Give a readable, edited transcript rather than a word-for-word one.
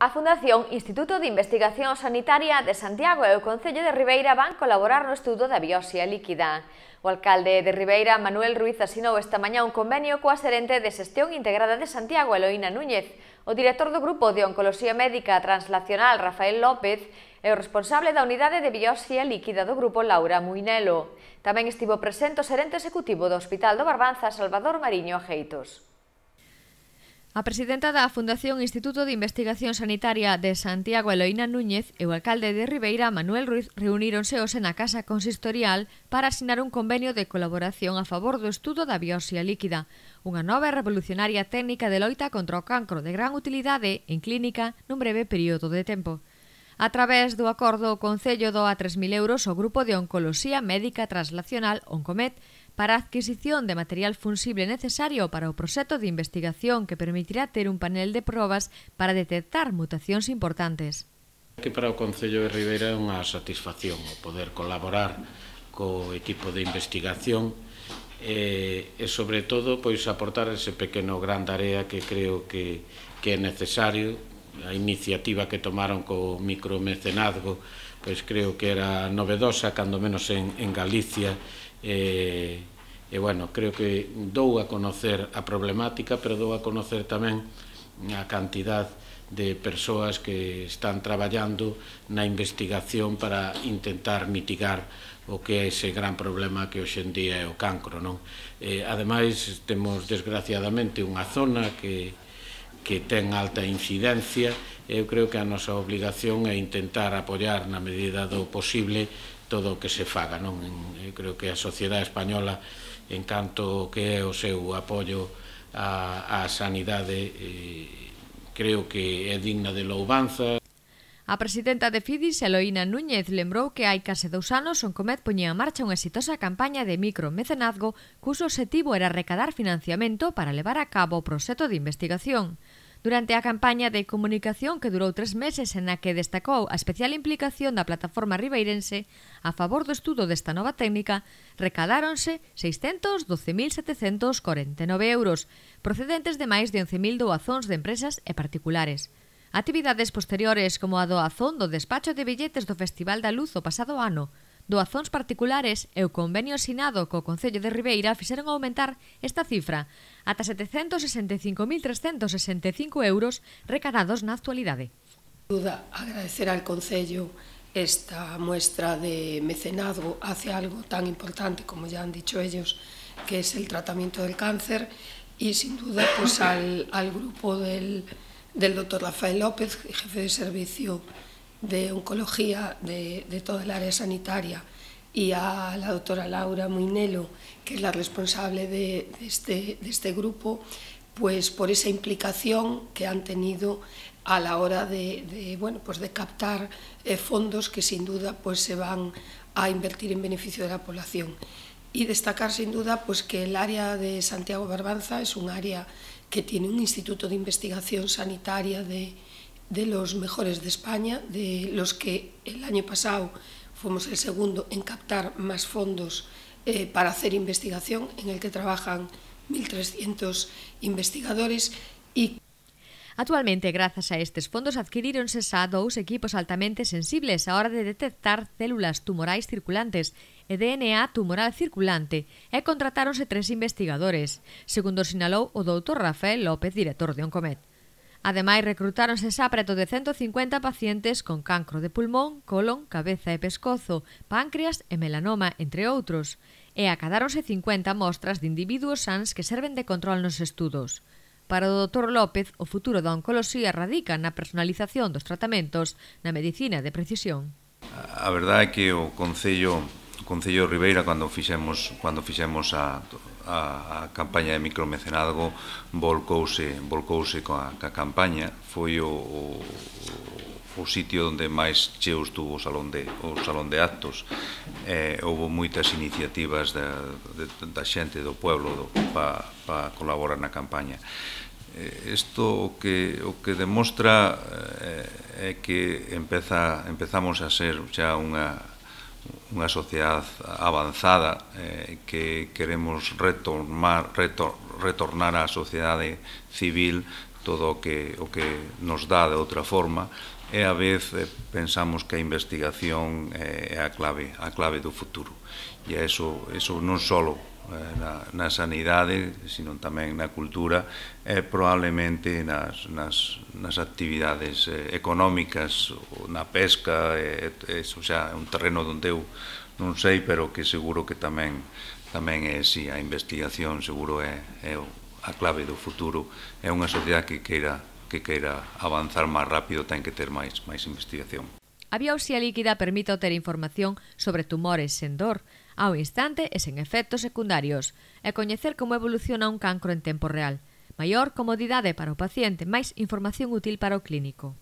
A Fundación Instituto de Investigación Sanitaria de Santiago e o Concello de Ribeira van colaborar no estudo da biopsia líquida. O alcalde de Ribeira, Manuel Ruiz, asinou esta mañá un convenio coa xerente de Xestión Integrada de Santiago, Eloína Núñez, o director do Grupo de Oncoloxía Médica Translacional, Rafael López, e o responsable da unidade de biopsia líquida do grupo, Laura Muinelo. Tamén estivo presente o xerente executivo do Hospital do Barbanza, Salvador Mariño Ajeitos. A presidenta da Fundación Instituto de Investigación Sanitaria de Santiago, Eloína Núñez, e o alcalde de Ribeira, Manuel Ruiz, reuníronse hoxe na Casa Consistorial para asinar un convenio de colaboración a favor do estudo da biopsia líquida, unha nova e revolucionaria técnica de loita contra o cancro de gran utilidade en clínica nun breve período de tempo. A través do acordo, o Concello doa 3.000 euros ao Grupo de Oncoloxía Médica Translacional, Oncomet, para a adquisición de material funsible necesario para o proxecto de investigación que permitirá ter un panel de probas para detectar mutacións importantes. Que para o Concello de Ribeira é unha satisfacción o poder colaborar co equipo de investigación e sobre todo pois aportar ese pequeno gran tarea que creo que é necesario. A iniciativa que tomaron co micromecenazgo pois creo que era novedosa, cando menos en Galicia, e bueno, creo que dou a conocer a problemática, pero dou a conocer tamén a cantidad de persoas que están traballando na investigación para intentar mitigar o que é ese gran problema que hoxe en día é o cancro, non? Ademais, temos desgraciadamente unha zona que ten alta incidencia. Eu creo que a nosa obligación é intentar apoiar na medida do posible todo o que se faga, non? Eu creo que a sociedade española, en canto que é o seu apoio á sanidade, creo que é digna de louvanza. A presidenta de FIDIS, Eloína Núñez, lembrou que hai case 2 anos Oncomet poñía en marcha unha exitosa campaña de micromecenazgo cuxo obxectivo era recadar financiamento para levar a cabo o proxecto de investigación. Durante a campaña de comunicación que durou 3 meses e na que destacou a especial implicación da plataforma ribeirense a favor do estudo desta nova técnica, recadáronse 612.749 euros, procedentes de máis de 11.000 doazóns de empresas e particulares. Actividades posteriores como a doazón do despacho de billetes do Festival da Luz o pasado ano, doazóns particulares e o convenio asinado co Concello de Ribeira fixeron aumentar esta cifra ata 765.365 euros recadados na actualidade. Agradecer al Concello esta muestra de mecenazgo hacia algo tan importante como ya han dicho ellos, que es el tratamiento del cáncer, y sin duda pues al grupo del doctor Rafael López, jefe de servicio de oncología de toda el área sanitaria, y a la doctora Laura Muinelo, que es la responsable de este grupo, pues por esa implicación que han tenido a la hora de captar fondos que sin duda pues se van a invertir en beneficio de la población. Y destacar sin duda pues que el área de Santiago Barbanza es un área que tiene un instituto de investigación sanitaria de los mejores de España, de los que el año pasado fuimos el segundo en captar más fondos para hacer investigación, en el que trabajan 1.300 investigadores. Actualmente, grazas a estes fondos, adquiríronse xa 2 equipos altamente sensibles á hora de detectar células tumorais circulantes e DNA tumoral circulante e contratáronse 3 investigadores, segundo sinalou o doutor Rafael López, director de Oncomet. Ademais, recrutáronse xa preto de 150 pacientes con cancro de pulmón, colon, cabeza e pescozo, páncreas e melanoma, entre outros, e acadáronse 50 mostras de individuos sans que serven de control nos estudos. Para o Dr. López, o futuro da oncoloxía radica na personalización dos tratamentos na medicina de precisión. A verdade é que o Concello de Ribeira, cando fixemos a campaña de micromecenazgo, volcouse coa campaña. Foi o sitio onde máis cheo estuvo o salón de actos. Houve moitas iniciativas da xente do pueblo para colaborar na campaña. Isto o que demostra é que empezamos a ser xa unha sociedade avanzada, que queremos retornar á sociedade civil todo o que nos dá de outra forma, e a vez pensamos que a investigación é a clave do futuro. E eso non só na sanidade, sino tamén na cultura, e probablemente nas actividades económicas, na pesca, eso xa é un terreno onde eu non sei, pero que seguro que tamén é así. A investigación seguro é a clave do futuro. É unha sociedade que queira avanzar máis rápido, ten que ter máis investigación. A biopsia líquida permite obter información sobre tumores sen dor, ao instante e sen efectos secundarios, e coñecer como evoluciona un cancro en tempo real. Maior comodidade para o paciente, máis información útil para o clínico.